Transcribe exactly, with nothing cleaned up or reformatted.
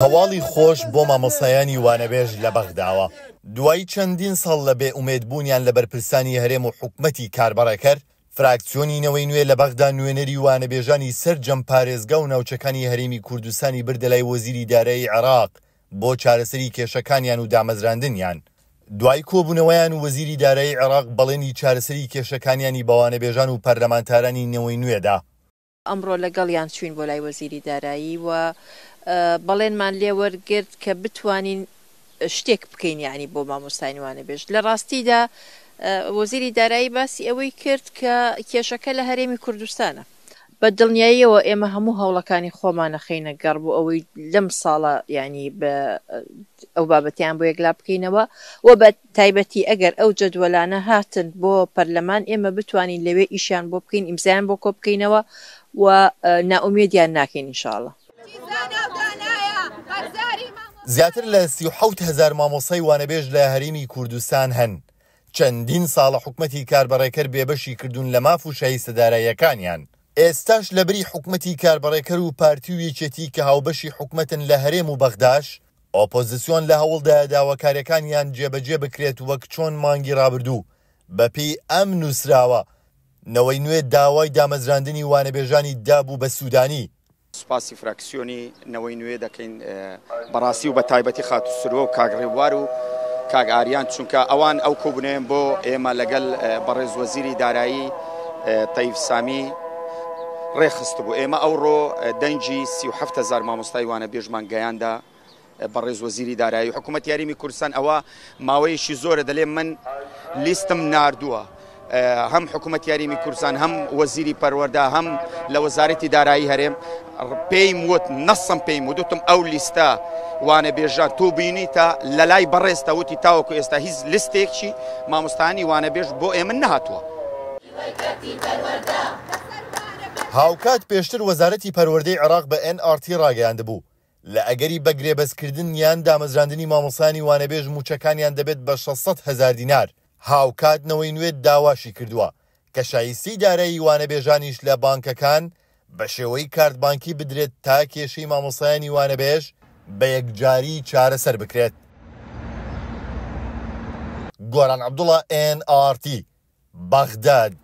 هەواڵی خۆش بۆ مامۆستایانی وانەبێژ لە بەغداوە. دوای چەندین ساڵ لە بێ ئومێدبوونیان لە بەرپرسانی هەرێم و حکومەتی کاربەڕێکەر، فراکسیۆنی نەوەی نوێ لە بەغدا نوێنەری وانەبێژانی سەرجەم پارێزگا و ناوچەکانی هەرێمی کوردستانی بردە لای وەزیری دارایی عێراق بۆ چارەسەری کێشەکانیان و دامەزراندنیان. دوای کۆبوونەوەیان وەزیری دارایی عێراق بەڵێنی چارەسەری کێشەکانیانی بە وانەبێژان و پەرلەمانتارانی نەوەی نوێدا. ئەمڕۆ لەگەڵیان چوین بۆ لای وەزیری دارایی و بەڵێنمان لێوەرگرت کە بتوانین شتێک بکەین یعنی بۆ مامۆستایانی وانەبێژ. لە ڕاستیدا وەزیری دارایی باسی ئەوەی کرد کە کێشەکە لە هەرێمی کوردستانە. بە دڵنیاییەوە ئێمە هەموو هەوڵەکانی خۆمان نەخەینە گەڕ بۆ ئەوەی لەم ساڵە یعنی بە ئەو بابەتیان بۆ یەکلا بکەینەوە و بە تایبەتی ئەگەر ئەو جەدوەلانە هاتن بۆ پەرلەمان ئێمە بتوانین لەوێ ئیشیان بۆ بکەین، ئیمزایان بۆ کۆ بکەینەوە و نائومێدیان ناکەین ئینشاءڵڵا. زیاتر لە سی و حەوت هەزار مامۆستای وانەبێژ لە هەرێمی کوردستان هەن. چەندین ساڵە حکومەتی کاربەڕێکەر بێبەشی کردوون لە ماف و شایستە داراییەکانیان. ئێستاش لەبری حکومەتی کاربەڕێکەر و پارتی و یەکێتی کە هاوبەشی حکومەتن لە هەرێم و بەغداش، ئۆپۆزیسیۆن لە هەوڵدایە داواکاریەکانیان جێبەجێ بکرێت وەک چۆن مانگی ڕابردوو بەپێی ئەم نووسراوە نەوەی نوێ داوای دامەزراندنی وانەبێژانی دابوو بە سوودانی. سوپاسی فراکسیۆنی نەوەی نوێ دەکەین بەڕاستی و بە تایبەتی خاتوو سروە و کاک ڕێبوار و کاک ئاریان، چونکە ئەوان ئەو کۆبوونەیەن بۆ ئێمە لەگەڵ بەڕێز وەزیری دارایی تەیف سامی ڕێخست بوو. ئێمە ئەوڕۆ دەنگی سی و حەفت هەزار مامۆستای وانەبێژمان گەیاندا بەڕێز وەزیری دارایی حکوومەت یاریمی کوردستان. ئەوە ماوەیەکی زۆرە دەلێ من لیستم ناردووە، هەم حکوومەت یاریمی کوردستان، هەم وەزیری پەروەردە، هەم لە وەزارەتی دارایی هەرێم پێیم وت، نەسم پێیم وتم ئەو لیستە وانەبێژان تۆ بینیتە لە لای بەڕێزتە وتی تاوەکو ئێستا هیچ لیستێکی مامۆستایانی وانەبێژ بۆ ئێمە نەهاتووە. هاوکات پێشتر وەزارەتی پەروەردەی عێراق بە ئێن ئاڕ تی ڕاگەیاندبوو لە ئەگەری بەگرێبەستکردن یان دامەزراندنی مامۆستایانی وانەبێژ موچەکانیان دەبێت بە شەش سەد هەزار دینار. هاوکات نەوەی نوێ داواشی کردووە کە شایستەی دارایی وانەبێژانیش لە بانکەکان بە شێوەی کارت بانکی بدرێت تا کێشەی مامۆستایانی وانەبێژ بە یەکجاری چارەسەر بکرێت. گۆران عەبدوڵڵا، ئێن ئاڕ تی، بەغداد.